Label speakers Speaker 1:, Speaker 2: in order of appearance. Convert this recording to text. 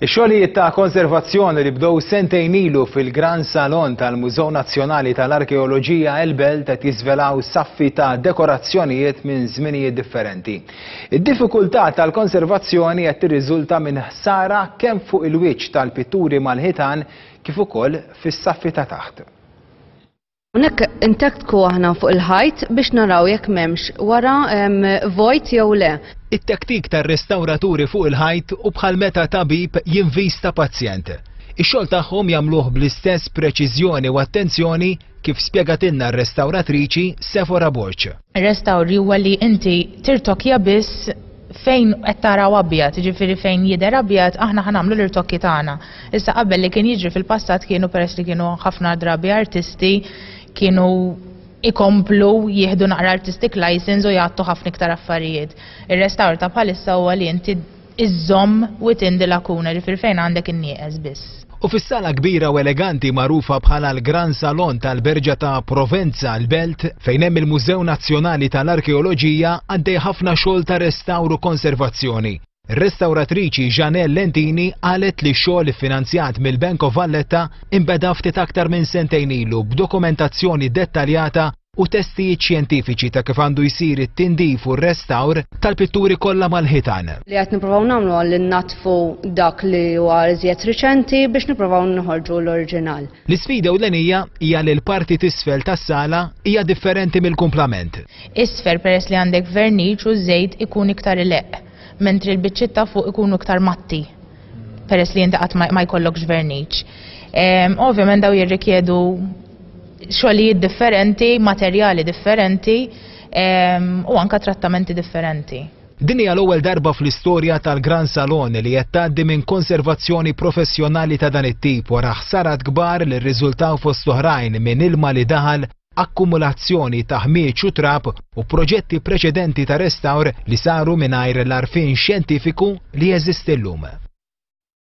Speaker 1: Ix-xogħlijiet ta' konservazzjoni li bdew sentejn ilu fil-Gran Salon tal-Mużew Nazzjonali tal-Arkeoloġija El Belt qed jiżvelaw saffi ta' dekorazzjonijiet minn żminijiet differenti. Id-diffikultà tal-konservazzjoni qed tirriżulta minn ħsara kemm fuq il-wiċċ tal-pitturi mal-ħitan kif ukoll fis-saffi ta' taħt.
Speaker 2: Hawnhekk intektku aħna fuq il-ħajt biex naraw jekk m'hemmx wara vojt jew le.
Speaker 1: It-tektik tar-restawraturi fuq il-ħajt hu bħal meta tabib jinvista pazjent. Ix-xogħol tagħhom jagħmluh bl-istess preċiżjoni u attenzjoni kif spjegatilna r-restawratriċi Sephora Borg.
Speaker 3: Ir-restawr huwa li inti tirtokja biss fejn qed taraw abjad, jiġifieri fejn jidher abjad aħna ħa nagħmlu l-irtokki tagħna. Issa qabel li kien jiġri fil-passat kienu peress li kienu ħafna drabi artisti kienu ikomplu jieħdu naqra artistic license u jgħattu ħafna iktar affarijiet. Ir-restawr ta' bħalissa huwa li inti iżżomm within the lacuna, ġifieri fejn għandek in-nieqes biss.
Speaker 1: U fis-sala kbira u eleganti magħrufa bħala l-Gran Salon tal-Berġa ta' Provenza l-Belt, fejn hemm il-Mużew Nazzjonali tal-Arkeoloġija għaddej ħafna xogħol ta' restawr u konservazzjoni. Ir-restawratriċi Jeanelle Lentini qalet li x-xogħol iffinanzjat mill-Bank of Valletta inbeda ftit aktar minn sentejn ilu b'dokumentazzjoni dettaljata u testijiet xjentifiċi ta' kif għandu jsir it-tindif u r-restawr tal-pitturi kollha mal-ħitan.
Speaker 2: Li qed nippruvaw nagħmlu li nnaddfu dak li huwa iżjed riċenti biex nippruvaw noħorġu l-oriġinal.
Speaker 1: L-isfida ewlenija hija li l-parti t'isfel tas-sala hija differenti mill-kumplament.
Speaker 3: Isfel peress li għandek verniċ u żejt ikun iktar ileqq, mentri l-biċċiet ta' fuq ikunu iktar matti peress li inti qatt ma jkollokx verniċ. Ovvjament daw jirrikjedu xogħlijiet differenti, materjali differenti u anka trattamenti differenti.
Speaker 1: Din hija l-ewwel darba fl-istorja tal-Gran Salon li qed tgħaddi minn konservazzjoni professjonali ta' dan it-tip wara ħsarat kbar li rriżultaw fost oħrajn minn ilma li daħal, akkumulazzjoni ta' ħmieġ u trab u proġetti preċedenti ta' restawr li saru mingħajr l-għarfien xjentifiku li jeżisti llum.